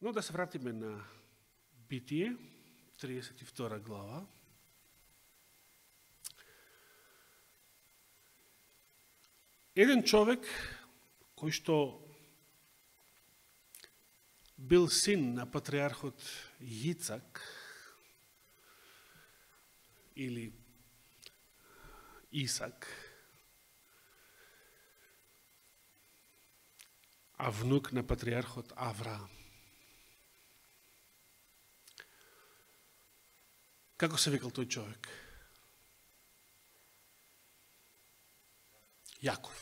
Но да се вратиме на Битие, 32 глава. Еден човек кој што бил син на патриархот Јицак или Исак, а внук на патриархот Авраам. Како се викал тој човек? Јаков.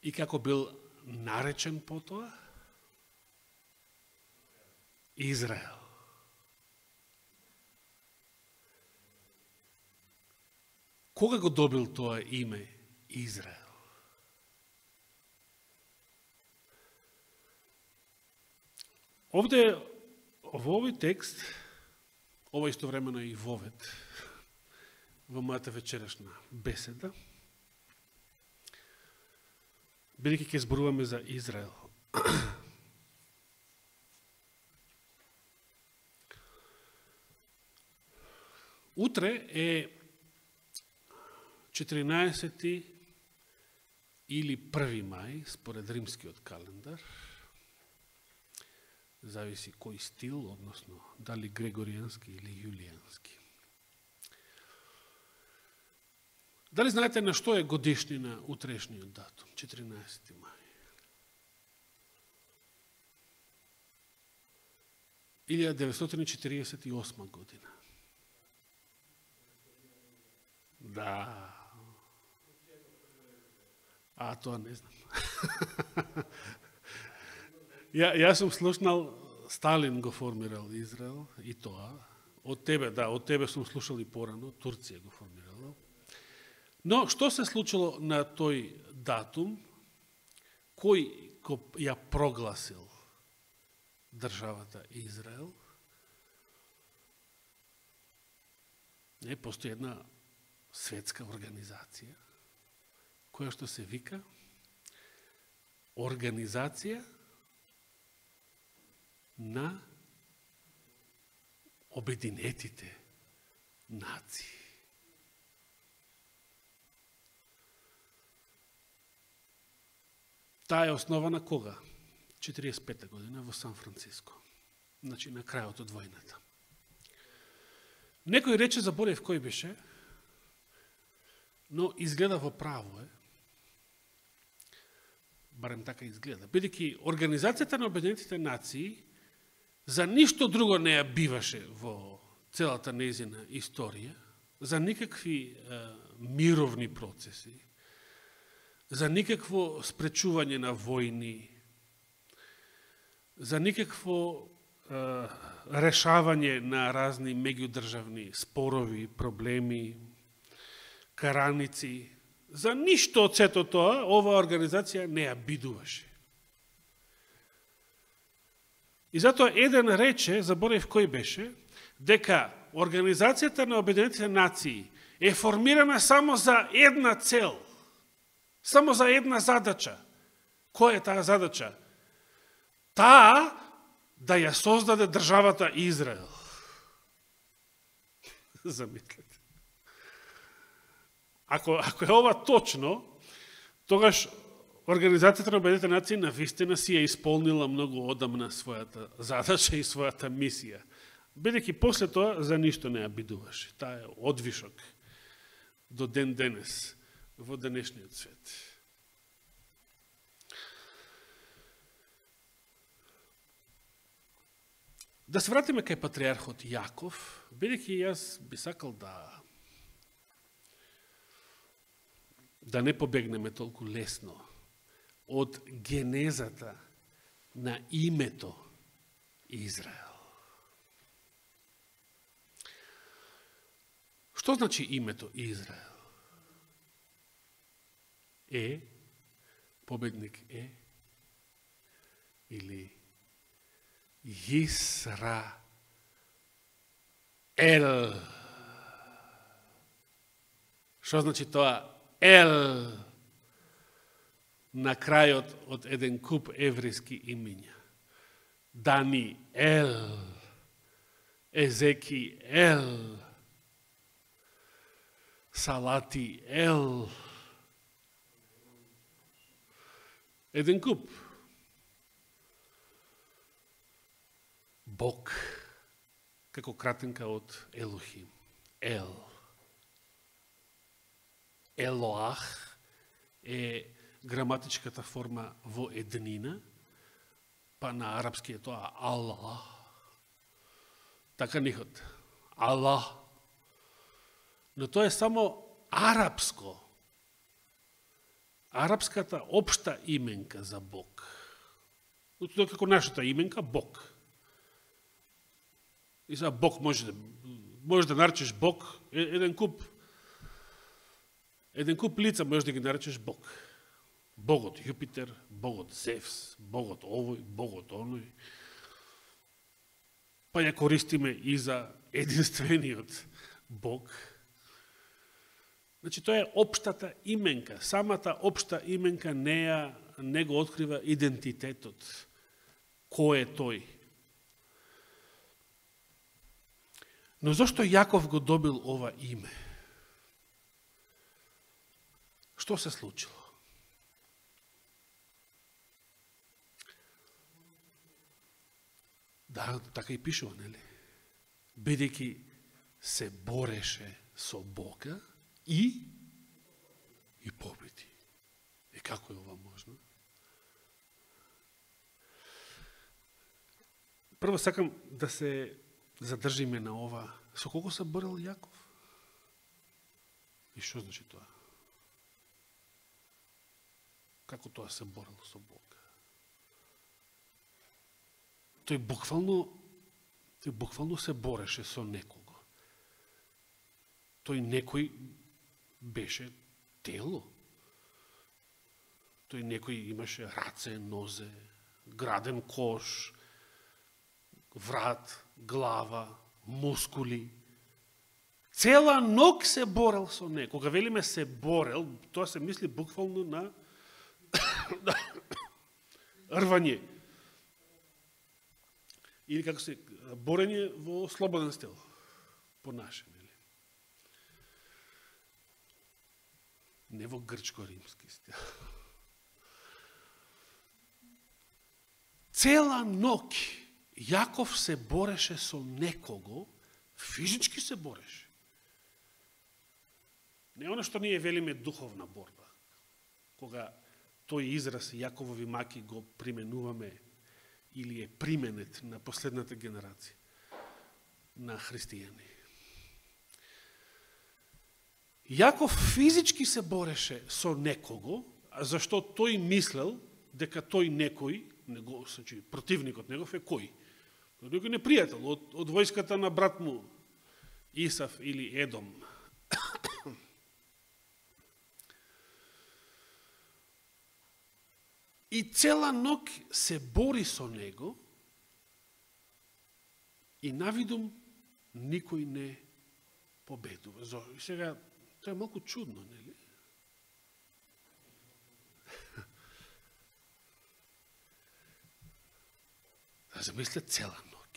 И како бил наречен потоа? Израел. Кога го добил тоа име Израел? Овде, во овој текст, ова истовремено и вовед, во мојата вечерашна беседа, бидејќи ќе зборуваме за Израел. Утре е 14 или 1 мај, според римскиот календар, зависи кој стил, односно дали грегоријански или јулијански. Дали знаете на што е годишнина утрешниот датум, 14 мај? 1948 година. Да. А, тоа не знам. Јас сум слушнал, Сталин го формирал Израел и тоа. Од тебе сум слушал и порано, Турција го формирала. Но, што се случило на тој датум? Кој ја прогласил државата Израел? Постои една светска организација, која што се вика Организација на Обединетите нации. Таа е основана кога? 45 година во Сан Франциско. Значи, на крајот од војната. Некој рече, заборев кој беше, но изгледа во право е, барем така изгледа, бидејќи Организацијата на Обединетите нации за ништо друго не ја биваше во целата нејзина историја, за никакви мировни процеси, за никакво спречување на војни, за никакво решавање на разни меѓудржавни спорови, проблеми, караници. За ништо од сето тоа, оваа организација не ја бидуваше. И затоа еден рече, заборев кој беше, дека Организацијата на Обединетите нации е формирана само за една цел, само за една задача. Која е таа задача? Таа да ја создаде државата Израел. Замислете. Ако е ова точно, тогаш Организацијата на Обединетите нации навистина си ја исполнила многу одамна својата задача и својата мисија. Бидејќи после тоа за ништо не ја бидуваше. Таа е одвишок до ден денес во денешниот свет. Да се вратиме кај патриархот Јаков, бидејќи јас би сакал да не побегнеме толку лесно од генезата на името Израел. Што значи името Израел? Победник или Јисраел. Што значи тоа? на крајот од еден куп еврејски имиња. Даниел, Езекиел, Салатиел. Еден куп. Бог, како кратенка од Елохим. Ел. Елоах е граматичката форма во еднина, па на арапски е тоа Аллах. Така нихот. Аллах. Но тоа е само арапско. Арапската општа именка за Бог. Тоа како нашата именка Бог. И за Бог може да наречеш Бог еден куп лица може да ги наречеш Бог. Богот Јупитер, Богот Зевс, Богот овој, Богот оној. Па ја користиме и за единствениот Бог. Значи, тоа е општата именка. Самата општа именка не го открива идентитетот. Кој е тој? Но зашто Јаков го добил ова име? Што се случило? Да, така и пишува, нели? Бидејќи се бореше со Бога и победи. И како е ова можно? Прво сакам да се задржиме на ова. Со колко се борел Јаков? И што значи тоа? Како тоа се борел со Бога? Тој буквално се бореше со некого. Тој некој беше тело. Тој некој имаше раце, нозе, граден кош, врат, глава, мускули. Цела ног се борел со некој. Кога велиме се борел, тоа се мисли буквално на рвање. Или како се борење во слободен стил. По наше, нели? Не во грчко-римски стил. Цела ног Јаков се бореше со некого, физички се бореше. Не оно што ние велиме духовна борба. Кога тој израз Јаковови маки го применуваме или е применет на последната генерација на христијани. Јаков физички се бореше со некого, зашто тој мислел дека тој некој, значи противникот негов е кој? Некој непријател од војската на брат му Исав или Едом. И цела ног се бори со него и навидум никој не победува. И сега, тоа е малку чудно, нели? Да замисле цела ног.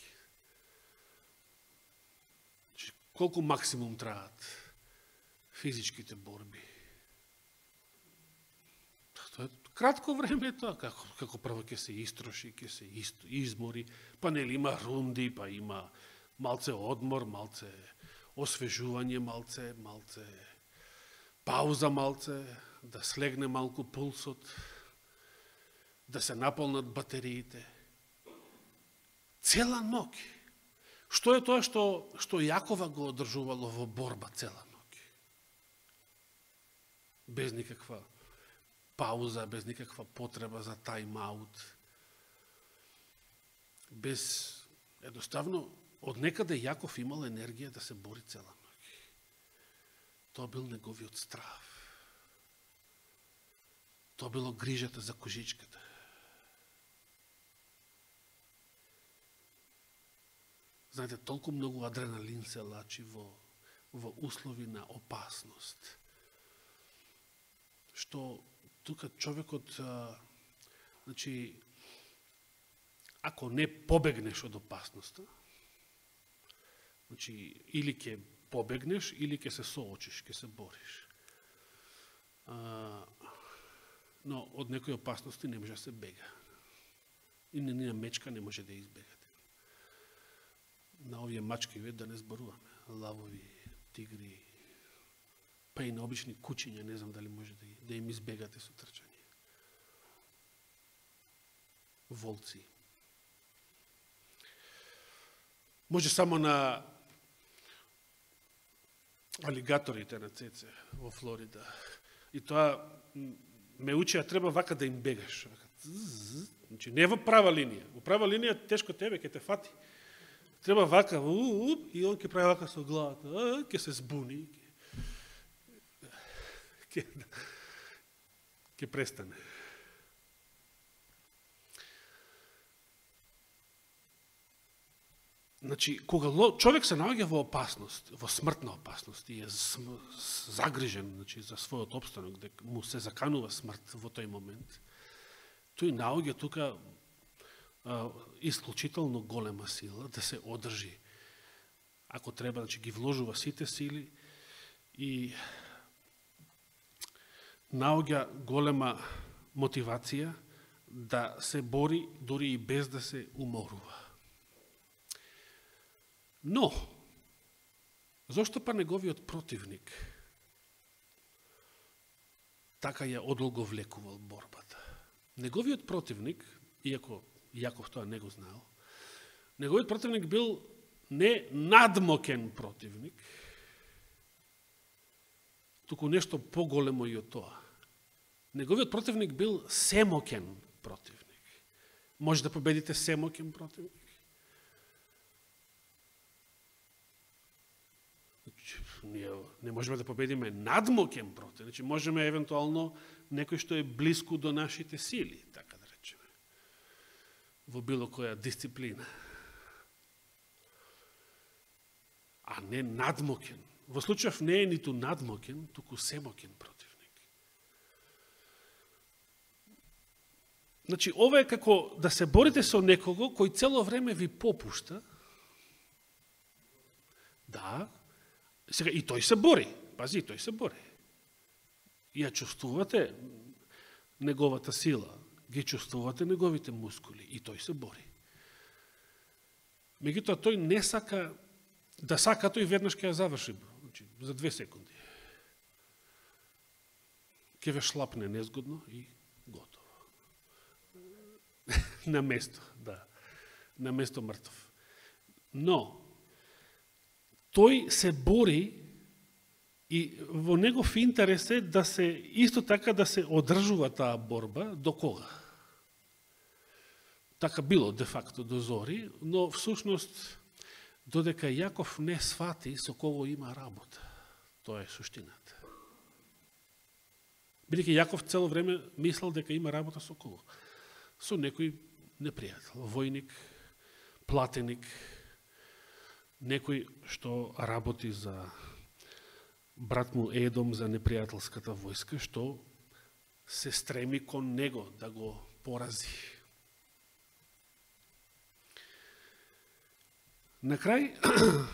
Колку максимум траат физичките борби? Тоа е кратко време тоа, како прво ќе се истроши, ќе се измори, па нели има рунди, па има малце одмор, малце освежување, малце пауза, малце да слегне малку пулсот, да се наполнат батериите. Цела ног. Што е тоа што Јакова го одржувало во борба цела ног? Без никаква пауза, без никаква потреба за тајм-аут. Без, едноставно, од некаде Јаков имал енергија да се бори цела ног. Тоа бил неговиот страв. Тоа било грижата за кожичката. Знаете, толку многу адреналин се лачи во услови на опасност, што тука човекот, значи, ако не побегнеш од опасноста, значи, или ќе побегнеш, или ќе се соочиш, ќе се бориш. Но од некои опасности не може да се бега. И на мечка не може да избегате. На овие мачки да не зборуваме. Лавови, тигри, па и на обични кучиња, не знам дали може да им избегате со трчање. Волци. Може само на алигаторите на Цеце во Флорида. И тоа ме учи, треба вака да им бегаш. Значи, не во права линија. Во права линија тешко тебе, ќе те фати. Треба вака, и он ќе прави вака со главата, ќе се збуни, ќе престане. Значи, кога човек се наоѓа во опасност, во смртна опасност и е загрижен, значи, за својот опстанок, дека му се заканува смрт во тој момент, тој наоѓа тука исклучително голема сила да се одржи. Ако треба, значи, ги вложува сите сили и наоѓа голема мотивација да се бори дури и без да се уморува. Но, зошто па неговиот противник така ја одолговлекувал борбата? Неговиот противник, иако Јаков тоа не го знаел, неговиот противник бил не надмокен противник, туку нешто поголемо и од тоа. Неговиот противник бил семокен противник. Може да победите семокен противник? Ние не можеме да победиме надмокен противник. Значи, можеме евентуално некој што е близко до нашите сили, така да речеме, во било која дисциплина. А не надмокен. Во случајов не е ниту надмокен, туку семокен противник. Значи, ова е како да се борите со некого кој цело време ви попушта. Да, сега и тој се бори. Пази, тој се бори. Ја чувствувате неговата сила, ги чувствувате неговите мускули и тој се бори. Меѓутоа, тој не сака да сака, тој веднаш ќе ја заврши, значи, за 2 секунди. Ќе ве шлапне незгодно и готово. На место, да. На место мртов. Но, тој се бори и во негов интерес е да се, исто така да се одржува таа борба до кога? Така било, де факто, до зори, но всушност, додека Јаков не свати со кого има работа. Тоа е суштината. Бидејќи Јаков цело време мислел дека има работа со кого? Со некој непријател, војник, платеник, некој што работи за брат му Едом, за непријателската војска, што се стреми кон него да го порази. На крај,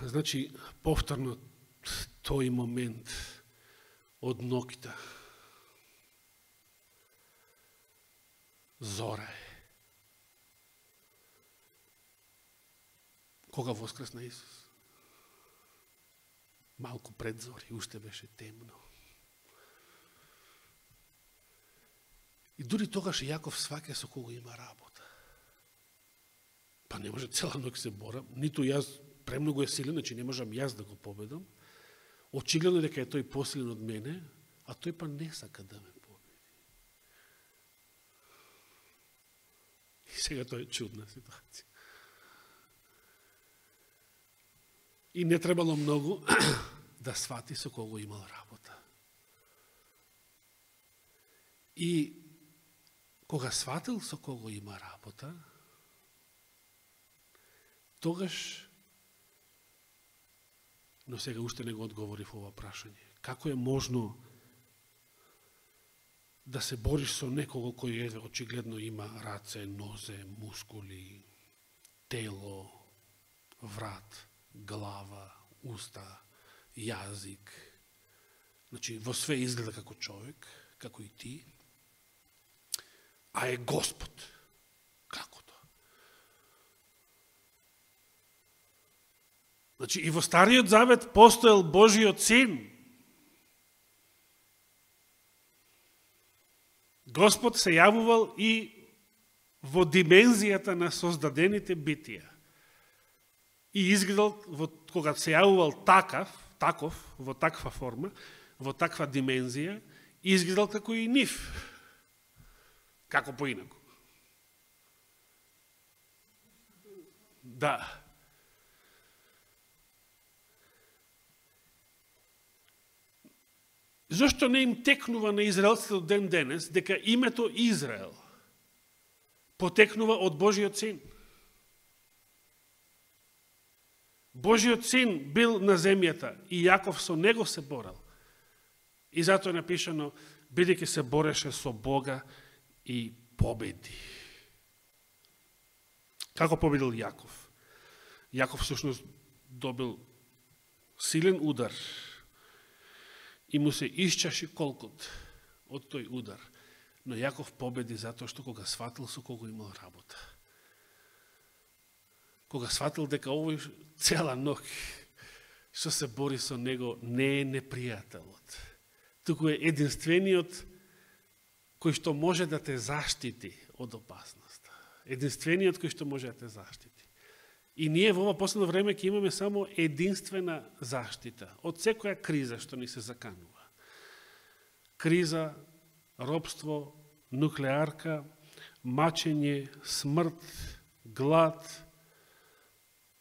значи, повторно тој момент од ноќта. Зора е. Кога воскресна Исус? Малку пред зори, уште беше темно. И дури тогаш Јаков сваќа со кого има работа. Па не може цела ноќ се борам, ниту јас премногу е силен, значи не можам јас да го победам. Очигледно дека е тој посилен од мене, а тој па не сака да ме победи. И сега тоа е чудна ситуација. И не требало многу да свати со кого имал работа. И кога сватил со кого има работа, тогаш, но сега уште не го одговорив ова прашање. Како е можно да се бориш со некого кој очигледно има раце, нозе, мускули, тело, врат, глава, уста, јазик. Значи, во све изгледа како човек, како и ти, а е Господ. Како тоа? Значи, и во Стариот Завет постоел Божиот Син. Господ се јавувал и во димензијата на создадените битија. И изгледал, кога се јавувал таков, во таква форма, во таква димензија, изгледал како и нив. Како поинаку. Да. Зошто не им текнува на израелците до ден денес дека името Израел потекнува од Божиот Син? Божиот Син бил на земјата и Јаков со него се борел. И затоа е напишано, бидејќи се бореше со Бога и победи. Како победил Јаков? Јаков всушност добил силен удар и му се исчаши колкот од тој удар. Но Јаков победи затоа што кога сватил со кого имал работа. Кога сватил дека овој цела ног што се бори со него не е непријателот, туку е единствениот кој што може да те заштити од опасност. Единствениот кој што може да те заштити. И ние во ова последно време ќе имаме само единствена заштита од секоја криза што ни се заканува. Криза, робство, нуклеарка, мачење, смрт, глад,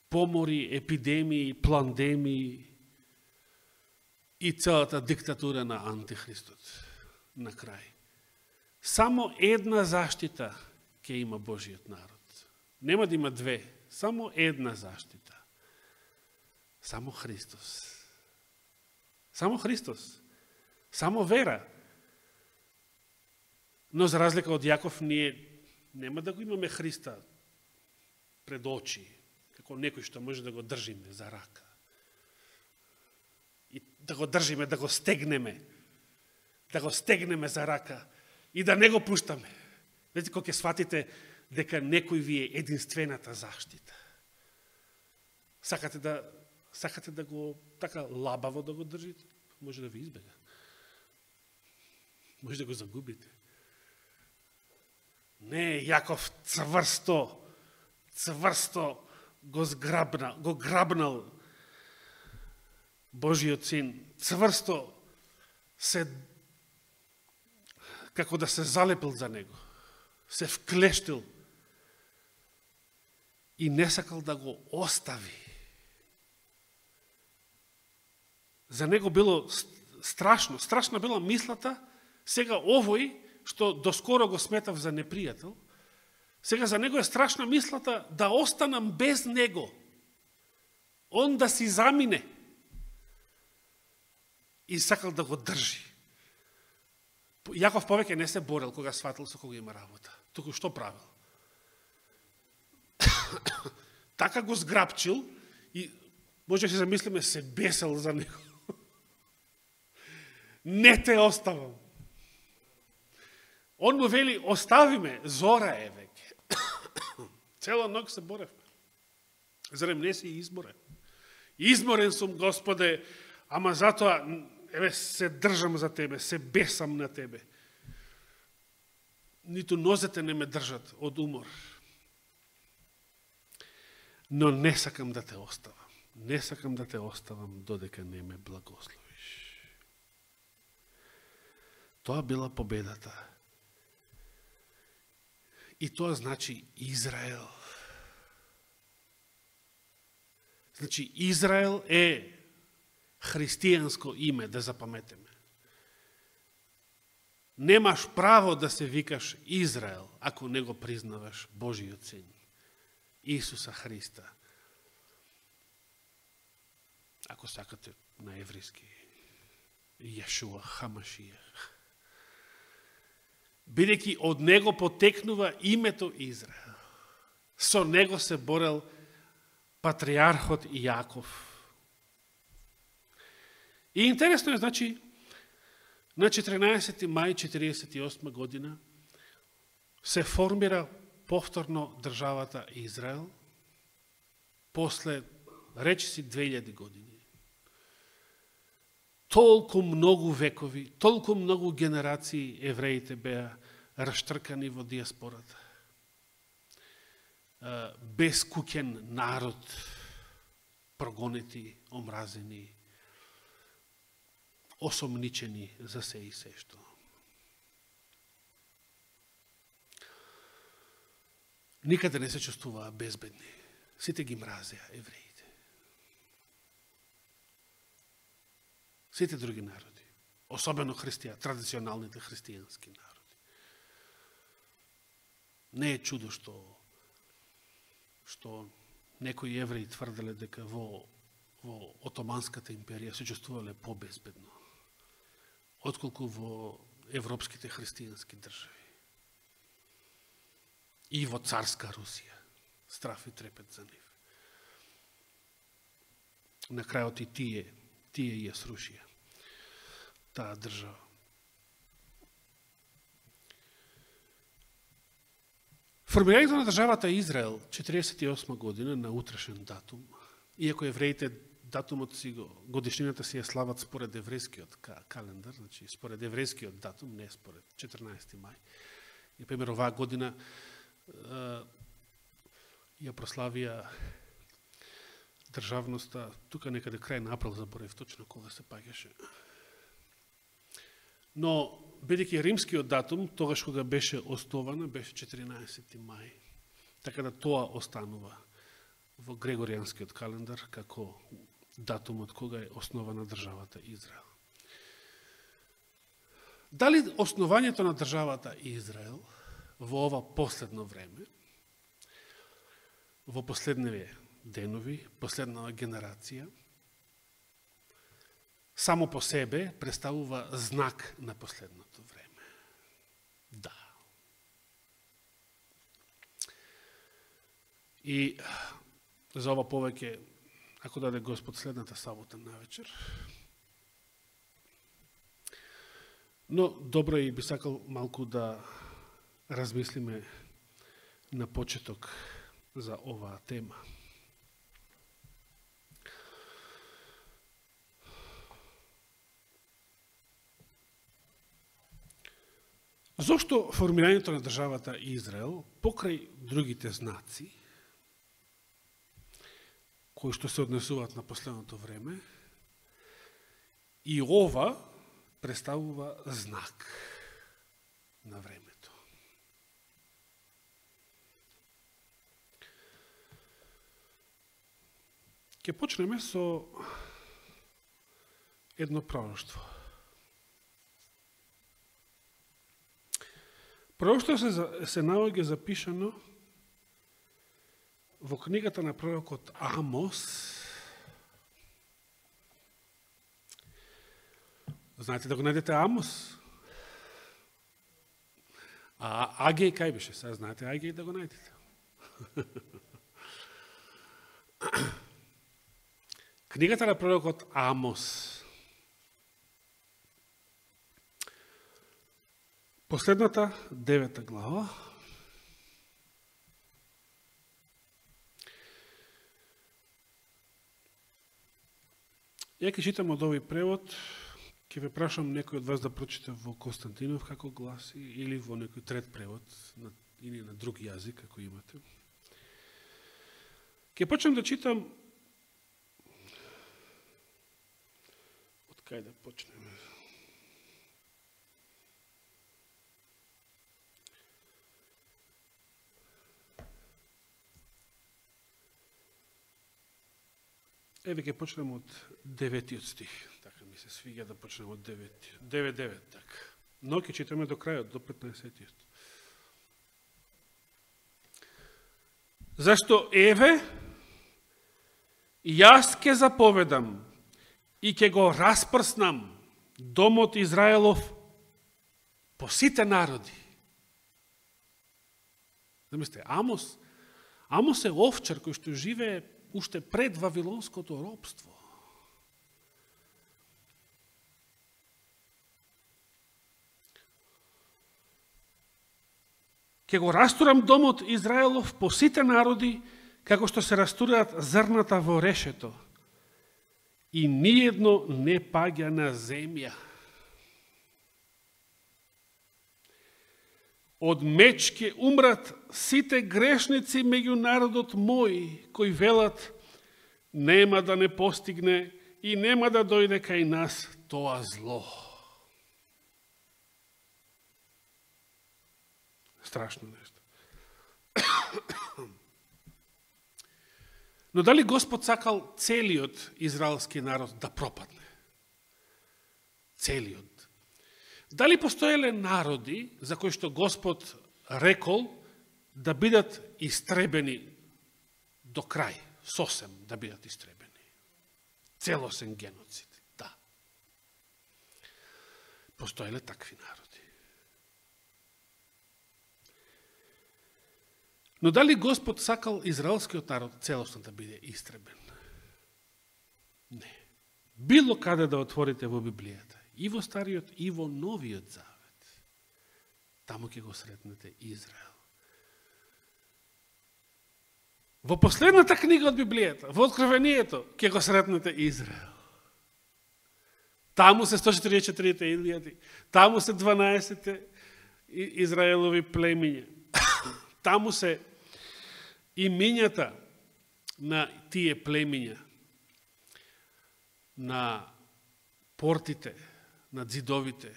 помори, епидемии, пандемии и целата диктатура на антихристот на крај. Само една заштита ќе има Божиот народ. Нема да има две, само една заштита. Само Христос. Само Христос. Само вера. Но за разлика од Јаков, ние нема да го имаме Христа пред очи, како некој што може да го држиме за рака. И да го држиме, да го стегнеме за рака и да не го пуштаме. Знаете, кога ќе сватите дека некој ви е единствената заштита. Сакате да го така лабаво да го држите, може да ви избега. Може да го загубите. Не, Јаков цврсто го грабнал Божиот Син, цврсто се, како да се залепил за него, се вклештил и не сакал да го остави. За него било страшна била мислата, сега овој, што доскоро го сметав за непријател, сега за него е страшна мислата да останам без него. Он да си замине. И сакал да го држи. Јаков повеќе не се борел кога сватил со кога има работа. Туку што правил? Така го зграбчил и може да се замислиме, се бесел за него. Не те оставам. Он му вели, остави ме, зора е веќе. Цела ног се боревме. Зарем не си изборен? Изморен сум, Господе, ама затоа, еве, се држам за Тебе, се бесам на Тебе. Ниту нозете не ме држат од умор. Но не сакам да те оставам. Не сакам да те оставам додека не ме благословиш. Тоа била победата. И тоа значи Израел. Значи, Израел е христијанско име, да запаметеме. Немаш право да се викаш Израел, ако не го признаваш Божиот Син, Исуса Христа. Ако сакате на еврејски, Јешуа Хамашија. бидејќи од него потекнува името Израел. Со него се борел патриархот Јаков. И интересно е, значи, на 14. мај 1948 година се формира повторно државата Израел после, речиси, 2000 години. Толку многу векови, толку многу генерации евреите беа раштркани во диаспората. Бескуќен народ, прогонети, омразени, осомничени за се и се што. Никаде не се чувствуваа безбедни. Сите ги мразеа евреите. Сите други народи, особено традиционалните христијански народи. Не е чудо што некои евреи тврделе дека во Отоманската империја се чувствувале побезбедно, отколку во европските христијански држави. И во царска Русија. Страф и трепет за нив. На крајот и тие ја срушија таа држава. Формирањето на државата Израел 1948 година на утрешен датум, иако евреите датумот си годишнината си ја слават според еврејскиот календар, значи според еврејскиот датум, не според 14. мај. И пример оваа година ја прославија државноста, тука некаде крај на април, заборев точно кога се паѓаше. Но, бидејќи римскиот датум, тогаш кога беше основана, беше 14. мај. Така да тоа останува во Грегоријанскиот календар како датумот кога е основана државата Израел. Дали основањето на државата Израел во ова последно време, во последниве денови, последнава генерација, само по себе представува знак на последното време? Да. И за ова повеќе, ако даде Господ следната сабота навечер, но добро и би сакал малку да размислиме на почеток за оваа тема. Зошто формирањето на државата Израел, покрај другите знаци, кои што се однесуваат на последното време, и ова представува знак на времето? Ќе почнеме со едно пророштво. Пророштво се наоѓа запишано во книгата на пророкот Амос. Знаете да го најдете Амос? А Агеј кај беше? Сега знаете Агеј да го најдете. Книгата на пророкот Амос. Последната 9 глава. Ја ќе читам од овој превод, ќе ве прашам некој од вас да прочита во Константинов како гласи или во некој трет превод или на друг јазик ако имате. Ќе почнем да читам од кај да почнеме. Еве ќе почнем од 9 стих. Така ми се свиѓа да почнем од 9 така. Но ќе читаме до крајот, до 15. Зашто еве, јас ќе заповедам и ќе го распрснам домот Израелов по сите народи. Замислете, Амос е овчар кој што живее уште пред вавилонското робство. Ке го растурам домот Израелов по сите народи, како што се растураат зрната во решето, и ниедно не паѓа на земја. Од меч ке умрат сите грешници меѓу народот мој, кои велат, нема да не постигне и нема да дојде кај нас тоа зло. Страшно нешто. Но дали Господ сакал целиот израелски народ да пропадне? Целиот. Дали постоеле народи за кои што Господ рекол да бидат истребени до крај, сосем да бидат истребени? Целосен геноцид, да. Постоеле такви народи. Но дали Господ сакал израелскиот народ целосно да биде истребен? Не. Било каде да отворите во Библијата, и во Стариот, и во Новиот Завет, таму ќе го сретнете Израел. Во последната книга од Библијата, во Откровението, ќе го сретнете Израел. Таму се 144 илјади, таму се 12 Израелови племиња. Таму се имињата на тие племиња, на портите, на ѕидовите,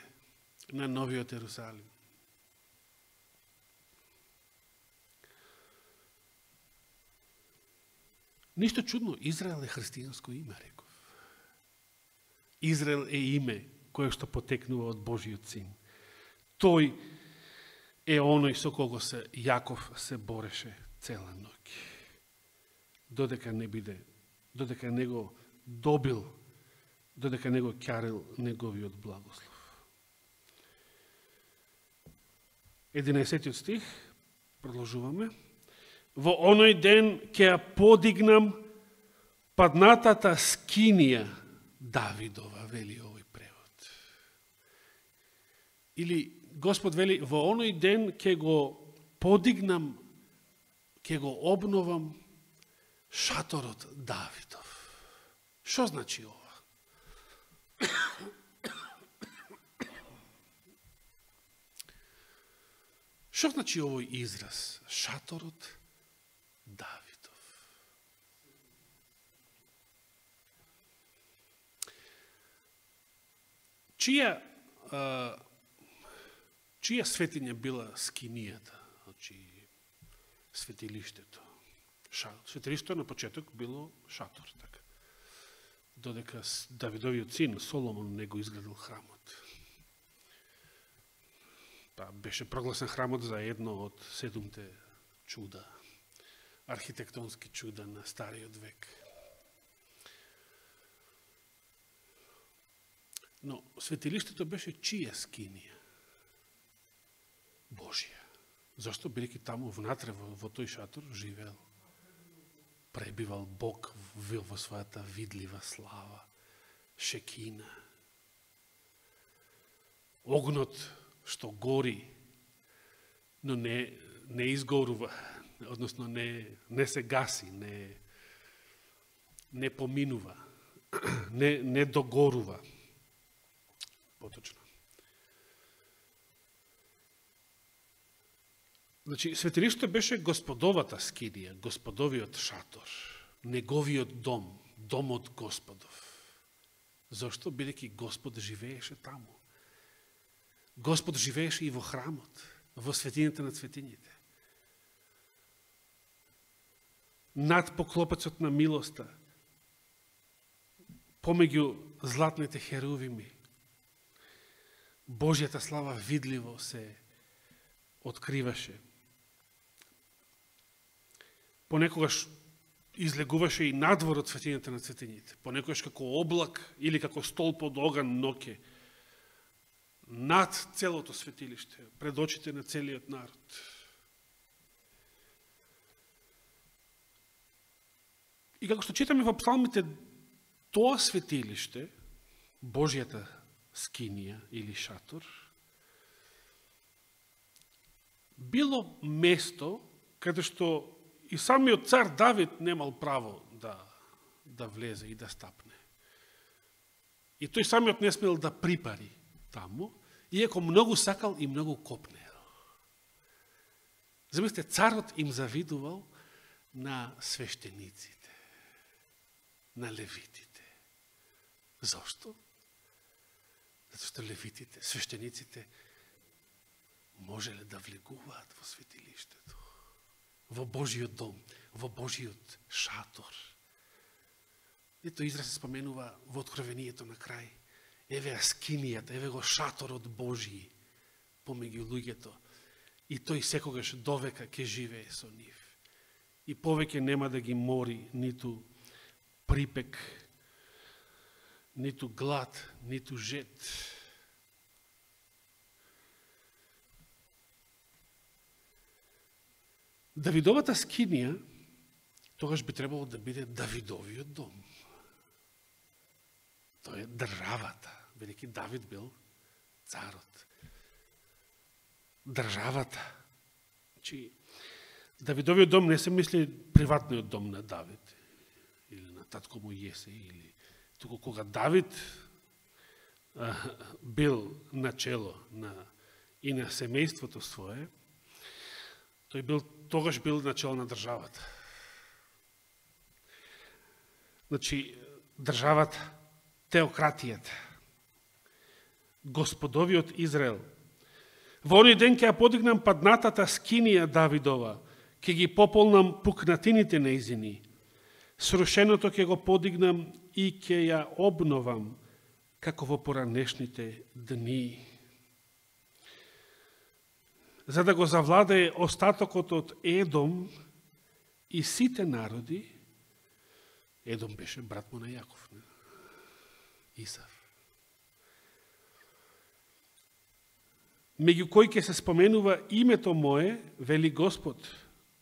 на Новиот Ерусалим. Ништо чудно, Израел е христијанско име, реков. Израел е име кое што потекнува од Божиот син. Тој е оној со кого се Јаков се бореше цела ноќ. Додека не не го добил, додека не го ќарил неговиот благослов. 11 стих, продолжуваме. Во оној ден ќе ја подигнам паднатата скинија Давидова, вели овој превод. Или Господ вели, во оној ден ќе го подигнам, ќе го обновам шаторот Давидов. Што значи ова? Што значи овој израз? Шаторот Давидов. Чија светиња била скинијата, значи светилиштето? Светилиштето на почеток било шатор, така. Додека Давидовиот син Соломон не го изградил храмот. Беше прогласен храмот за едно од 7 чуда, архитектонски чуда на Стариот век. Но светилиштето беше чија скинија? Божија. Зашто? Бидејќи таму внатре во тој шатор живеел, пребивал Бог во својата видлива слава, шекина. Огнот што гори, но не изгорува, односно не се гаси, не поминува, не догорува. Поточно. Значи, светилиштето беше Господовата скинија, Господовиот шатор, неговиот дом, домот Господов. Зошто? Бидејќи Господ живееше таму. Господ живееше и во храмот, во светињата на светињите. Над поклопецот на милоста, помеѓу златните херувими, Божјата слава видливо се откриваше. Понекогаш излегуваше и надвор од светињата на светињите. Понекогаш како облак или како столб од оган ноќе над целото светилиште, пред очите на целиот народ. И како што читаме во псалмите, тоа светилиште, Божјата скинија или шатор, било место каде што и самиот цар Давид немал право да влезе и да стапне. И тој самиот не смел да припари таму, иако многу сакал и многу копнел. Замислете, царот им завидувал на свештениците, на левитите. Зошто? Зато што левитите, свештениците, можеле да влегуваат во светилиштето, во Божиот дом, во Божиот шатор. Ето израз се споменува во Откровението на крај. Еве скинијата, еве го шаторот Божи помеѓу луѓето. И тој секогаш довека ќе живее со нив. И повеќе нема да ги мори ниту припек, ниту глад, ниту жет. Давидовата скинија тогаш би требало да биде Давидовиот дом. Тоа е државата, бидејќи Давид бил царот. Државата. Значи, Давидовиот дом не се мисли приватниот дом на Давид, или на татко му Јесе, или туку кога Давид бил начело и на семејството свое, тој тогаш бил начело на државата. Значи, државата, теократијата, Господовиот Израел. Во оној ден ќе ја подигнам паднатата скинија Давидова, ќе ги пополнам пукнатините нејзини, срушеното ќе го подигнам и ќе ја обновам, како во поранешните дни. За да го завладее остатокот од Едом и сите народи, Едом беше брат му на Јаков, не? Исав. Меѓу кој ќе се споменува името мое, вели Господ,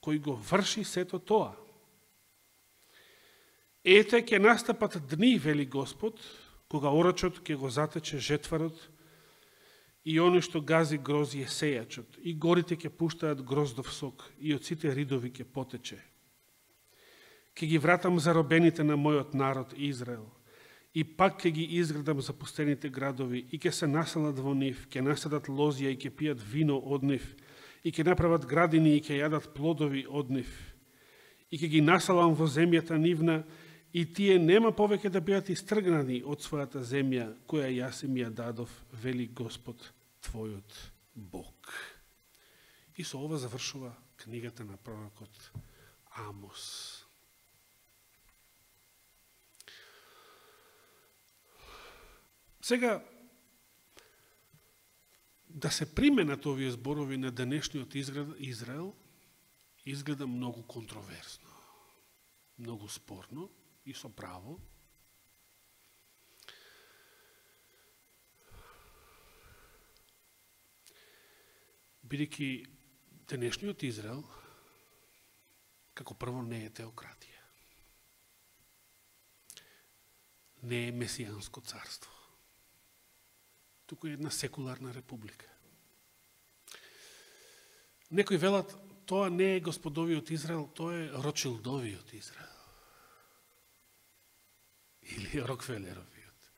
кој го врши сето тоа. Ете ќе настапат дни, вели Господ, кога орачот ќе го затече жетварот и оно што гази гроз е сејачот, и горите ќе пуштаат гроздов сок, и од сите ридови ќе потече. Ќе ги вратам заробените на мојот народ Израел, и пак ќе ги изградам запустените градови, и ќе се населат во нив, ќе насадат лозија и ќе пијат вино од нив, и ќе направат градини и ќе јадат плодови од нив. И ќе ги населам во земјата нивна, и тие нема повеќе да бидат истргнани од својата земја, која јас им ја дадов, вели Господ твојот Бог. И со ова завршува книгата на пророкот Амос. Сега, да се применат овие зборови на денешниот Израел, изгледа многу контроверсно, многу спорно и со право. Бидејќи денешниот Израел, како прво, не е теократија. Не е месијанско царство. Туку е една секуларна република. Некои велат, тоа не е Господовиот Израел, тоа е Рочилдовиот Израел. Или Рокфелеровиот.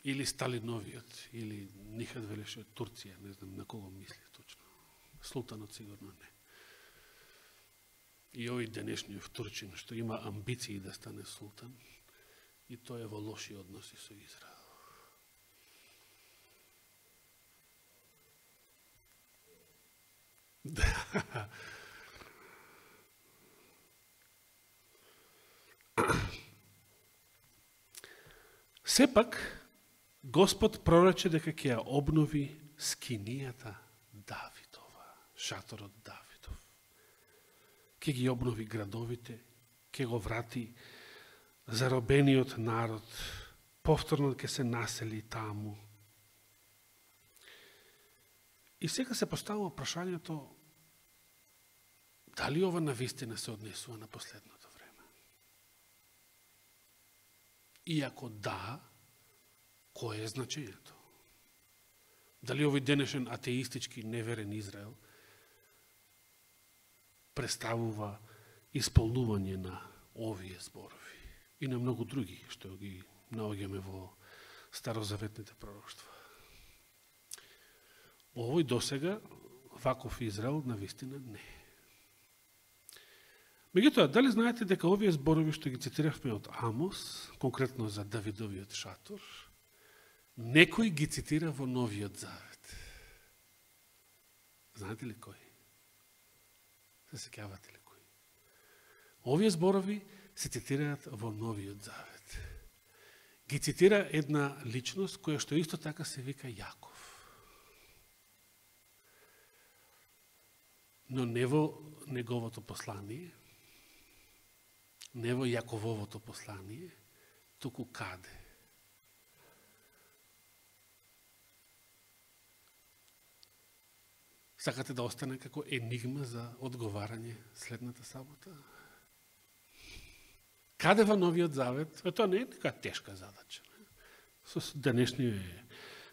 Или Сталиновиот. Или Нихад велеше Турција, не знам на кого мисли точно. Султанот сигурно не. И овој денешниот Турчин, што има амбиции да стане султан, и тоа е во лоши односи со Израел. Сепак, Господ прорече дека ќе ја обнови скинијата Давидова, шаторот Давидов. Ќе ги обнови градовите, ќе го врати заробениот народ, повторно ќе се насели таму. И сега се поставува прашањето, дали ова навистина се однесува на последното време? И ако да, кое е значењето? Дали овој денешен атеистички неверен Израел представува исполнување на овие зборови и на многу други што ги наоѓаме во старозаветните пророштва? Овој досега ваков Израел навистина не. Меѓутоа, дали знаете дека овие зборови што ги цитиравме од Амос, конкретно за Давидовиот шатор, некој ги цитира во Новиот Завет? Знаете ли кој? Се сеќавате ли кој? Овие зборови се цитираат во Новиот Завет. Ги цитира една личност која што исто така се вика Јаков. Но не во неговото послание, не во Јакововото послание, туку каде? Сакате да остане како енигма за одговарање следната сабота? Каде во Новиот Завет? Тоа не е нека тешка задача. Со денешни,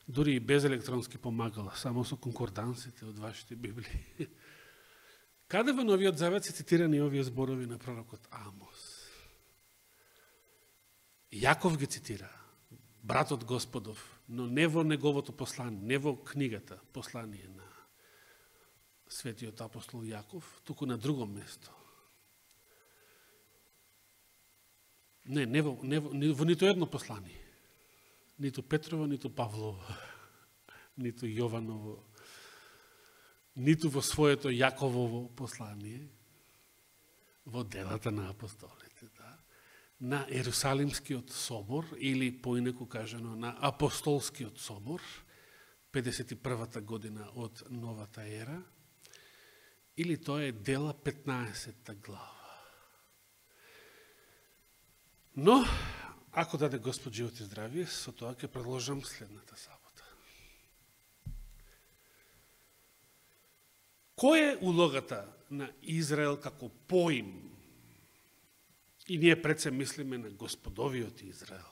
дури и без електронски помагала, само со конкордансите од вашите Библии. Каде во Новиот Завет се цитирани овие зборови на пророкот Амос? Јаков ги цитира, братот Господов, но не во неговото послание, не во книгата послание на светиот апостол Јаков, туку на друго место. Не во нито едно послание. Ниту Петрово, ниту Павлово, ниту Јованово, ниту во своето Јаковово послание, во делата на апостолите, да. На Ерусалимскиот собор, или поинеку кажано на Апостолскиот собор, 51-та година од новата ера, или тоа е Дела 15-та глава. Но, ако даде Господ живот и здравие, со тоа ќе продолжам следната сабота. Која е улогата на Израел како поим? И ние пред се мислиме на Господовиот Израел,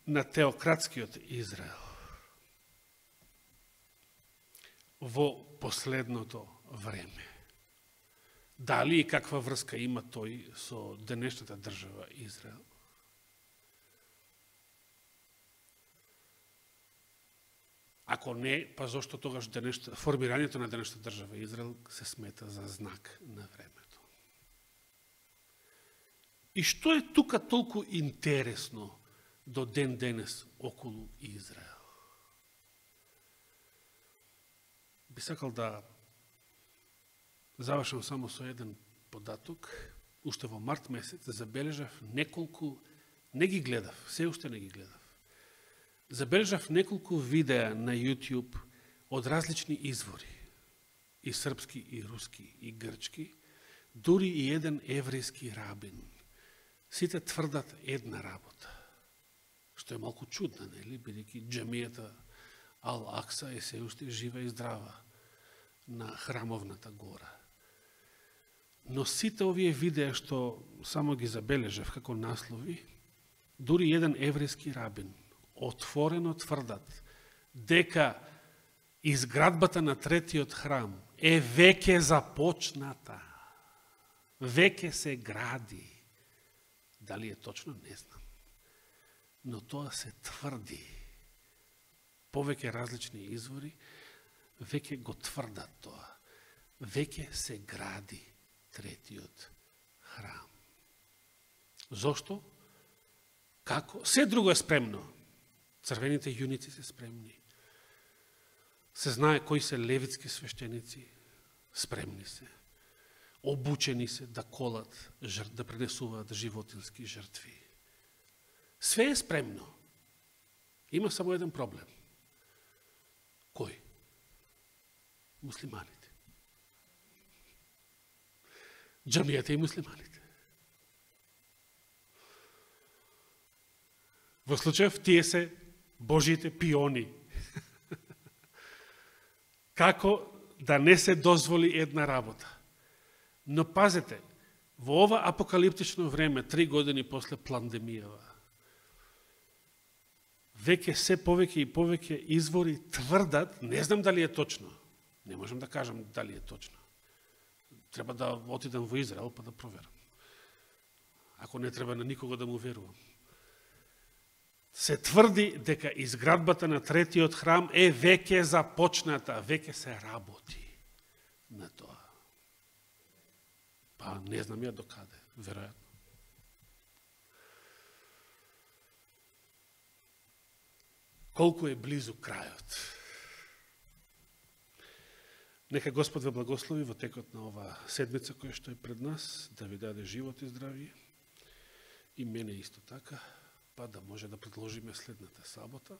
на теократскиот Израел, во последното време. Дали и каква врска има тој со денешната држава Израел? Ако не, па зошто тогаш формирањето на денешната држава Израел се смета за знак на времето? И што е тука толку интересно до ден денес околу Израел? Би сакал да завршам само со еден податок. Уште во март месец забележав неколку, не ги гледав, се уште не ги гледав. Забележав неколку видеа на YouTube од различни извори, и српски, и руски, и грчки, дури и еден еврејски рабин. Сите тврдат една работа, што е малку чудна, нели, бидејќи џамијата Ал-Акса е се уште жива и здрава на храмовната гора. Но сите овие видеа што само ги забележав како наслови, дури еден еврејски рабин отворено тврдат дека изградбата на третиот храм е веќе започната, веќе се гради. Дали е точно, не знам. Но тоа се тврди. Повеќе различни извори веќе го тврдат тоа. Веќе се гради третиот храм. Зошто? Како? Се друго е спремно. Црвените јуници се спремни. Се знае кои се левитски свештеници, спремни се. Обучени се да колат, да пренесуваат животински жртви. Све е спремно. Има само еден проблем. Кој? Муслиманите. Џамијата и муслиманите. Во случајов тие се Божите пиони. Како да не се дозволи една работа? Но пазете, Во ова апокалиптично време, 3 години после пандемијава, веќе се повеќе и повеќе извори тврдат, не знам дали е точно, не можам да кажам дали е точно. Треба да отидам во Израел па да проверам. Ако не треба на никого да му верувам. Се тврди дека изградбата на третиот храм е веќе започната, веќе се работи на тоа. Па не знам ја докаде, веројатно. Колку е близу крајот. Нека Господ ве благослови во текот на ова седмица која што е пред нас, да ви даде живот и здравие, и мене исто така, па да може да продолжиме следната сабота.